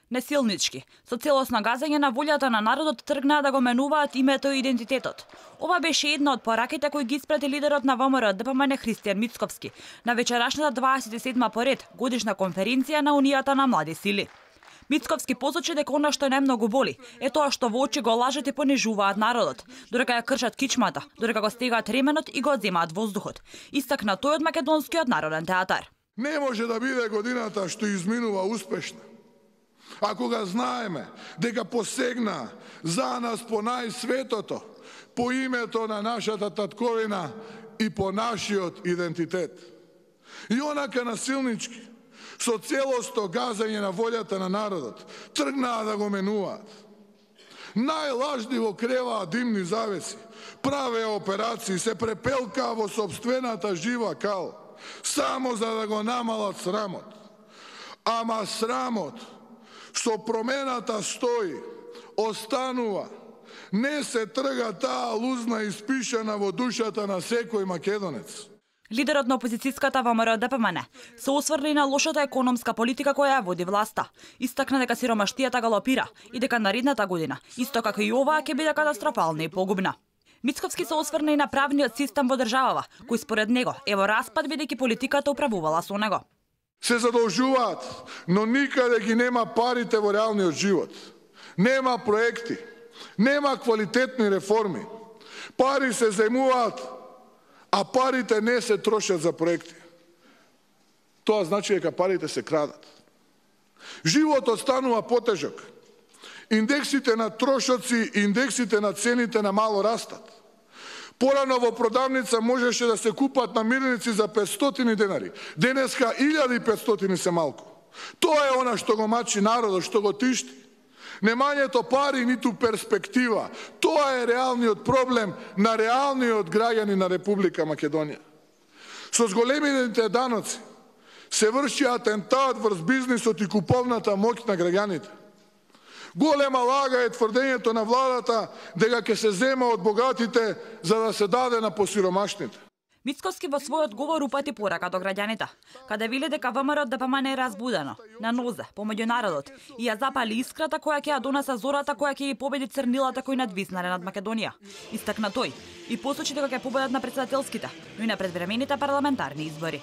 Несилнички, со целосно газење на волјата на народот тргнаа да го менуваат името и идентитетот. Ова беше една од пораките кои ги испрати лидерот на ВМРО ДПМН Христијан Мицковски на вечерашната 27-ма поред годишна конференција на Унијата на млади сили. Мицковски посочи дека она што најмногу боли е тоа што во очи го лажат и понижуваат народот, додека ја кршат кичмата, додека го стегаат ременот и го одземаат воздухот. Истакна тој од Македонскиот народен театар. Не може да биде годината што изминува успешна, ако ga знаеме дека посегна за нас по најсветото, по името на нашата татковина и по нашиот идентитет. И онака насилнички, со целосто газање на волјата на народот, тргнаа да го менуваат. Најлажливо креваа димни завеси, правеа операции, се препелкаа во сопствената жива кал, само за да го намалат срамот. Ама срамот со промената стои, останува, не се трга таа лузна испишана во душата на секој македонец. Лидерот на опозицијската ВМРО ДПМН се осврли на лошата економска политика која ја води власта. Истакна дека сиромаштијата галопира и дека наредната година, исто како и оваа, ќе биде катастрофална и погубна. Мицковски се осврна и на правниот систем во државава, кој според него е во распад бидејќи политиката управувала со него. Се задолжуваат, но никаде ги нема парите во реалниот живот. Нема проекти, нема квалитетни реформи. Пари се земуваат, а парите не се трошат за проекти. Тоа значи дека парите се крадат. Животот станува потежок. Индексите на трошоци, индексите на цените на мало растат. Порано во продавница можеше да се купат намирници за 500 денари. Денеска 1500 се малку. Тоа е она што го мачи народот, што го тишти. Немањето пари ниту перспектива. Тоа е реалниот проблем на реалниот граѓани на Република Македонија. Со зголемените даноци се врши атентат врз бизнисот и куповната моќ на граѓаните. Голема лага е тврдењето на владата дека ќе се зема од богатите за да се даде на посиромашните. Мицковски во својот говор упати порака до граѓаните, каде вели дека ВМРО ДПМН е разбудено, на нозе, помеѓу народот и ја запали искрата која ќе ја донесе зората која ќе ги победи црнилата кои надвиснале над Македонија. Истакна тој и посочи дека ќе победат на претседателските, но и на предвремените парламентарни избори.